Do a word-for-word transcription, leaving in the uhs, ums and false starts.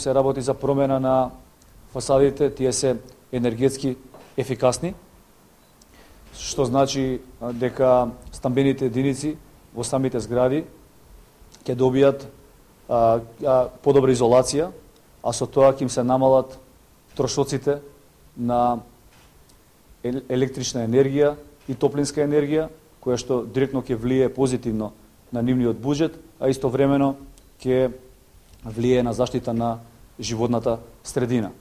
се работи за промена на фасадите, тие се енергетски ефикасни, што значи дека стамбените единици во самите згради ќе добијат а, а, подобра изолација, а со тоа ќе им се намалат трошоците на електрична енергија и топлинска енергија, која што директно ќе влие позитивно на нивниот буџет, а истовремено ќе влие на заштита на животната средина.